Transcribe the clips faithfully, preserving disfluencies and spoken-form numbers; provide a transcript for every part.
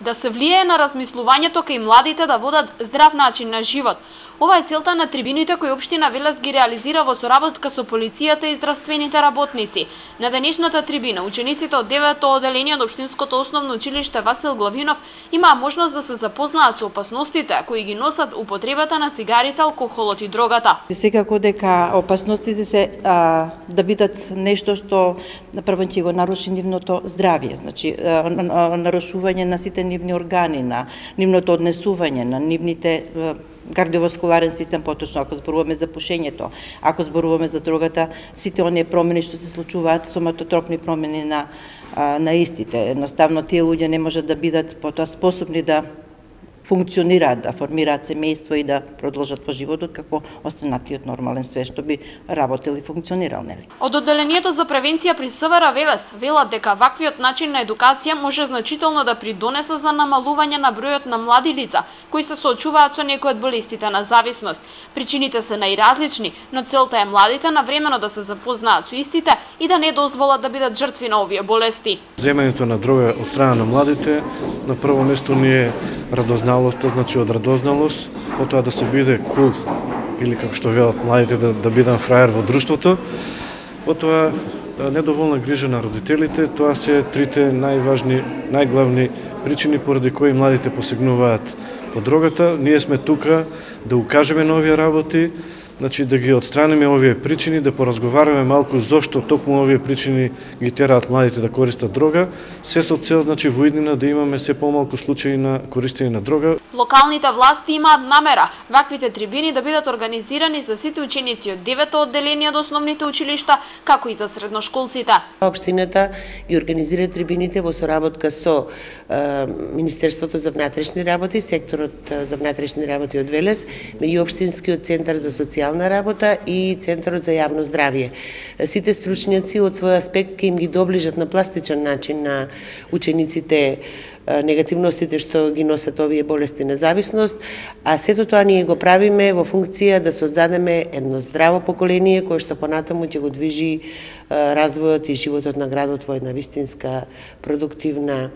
да се влијае на размислувањето кај младите да водат здрав начин на живот. Ова е целта на трибините кои општина Велес ги реализира во соработка со полицијата и здравствените работници. На денешната трибина учениците од девето оделение од општинското основно училиште Васил Главинов имаа можност да се запознаат со опасностите кои ги носат употребата на цигарите, алкохолот и дрогата. Секако дека опасностите се а, да бидат нешто што прво ќе го наруши нивното здравје, значи а, нарушување на сите нивни органи, на нивното однесување, на нивните а, кардиоваскуларен систем, поточно ако зборуваме за пушењето, ако зборуваме за дрогата, сите оние промени што се случуваат, соматотропни промени на на истите. Едноставно тие луѓе не можат да бидат потоа способни да функционираат, да формираат семејство и да продолжат по животот како останатиот нормален свет што би работел и функционирал, нели? Од одделението за превенција при СВР Велес велат дека ваквиот начин на едукација може значително да придонесе за намалување на бројот на млади лица кои се соочуваат со некои од болестите на зависност. Причините се најразлични, но целта е младите навремено да се запознаат со истите и да не дозволат да бидат жртви на овие болести. Земањето на дрога од страна на младите на прво место ни е радозналоста, значи од радозналост, потоа да се биде кул, или како што велат младите, да, да бидам фраер во друштвото, потоа недоволна грижа на родителите, тоа се трите најважни, најглавни причини поради кои младите посегнуваат по дрогата. Ние сме тука да укажеме на овие работи, значи да ги отстраниме овие причини, да поразговараме малку зошто токму овие причини ги тераат младите да користат дрога, се со цел, значи, во иднина да имаме се помалку случаи на користење на дрога. Локалните власти имаат намера ваквите трибини да бидат организирани за сите ученици од девето одделение од основните училишта, како и за средношколците. Општината ги организира трибините во соработка со е, Министерството за внатрешни работи, секторот за внатрешни работи од Велес, и Општинскиот центар за социјална работа и Центарот за јавно здравје. Сите стручњаци од свој аспект ќе им ги доближат на пластичен начин на учениците негативностите што ги носат овие болести на зависност, а сето тоа ние го правиме во функција да создадеме едно здраво поколение кое што понатаму ќе го движи развојот и животот на градот во една вистинска продуктивна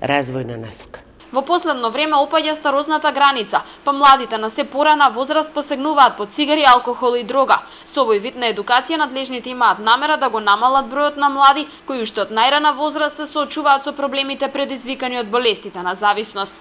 развојна насока. Во последно време опаѓа старосната граница, па младите на се порана возраст посегнуваат по цигари, алкохол и дрога. Со овој вид на едукација надлежните имаат намера да го намалат бројот на млади кои уште од најрана возраст се соочуваат со проблемите предизвикани од болестите на зависност.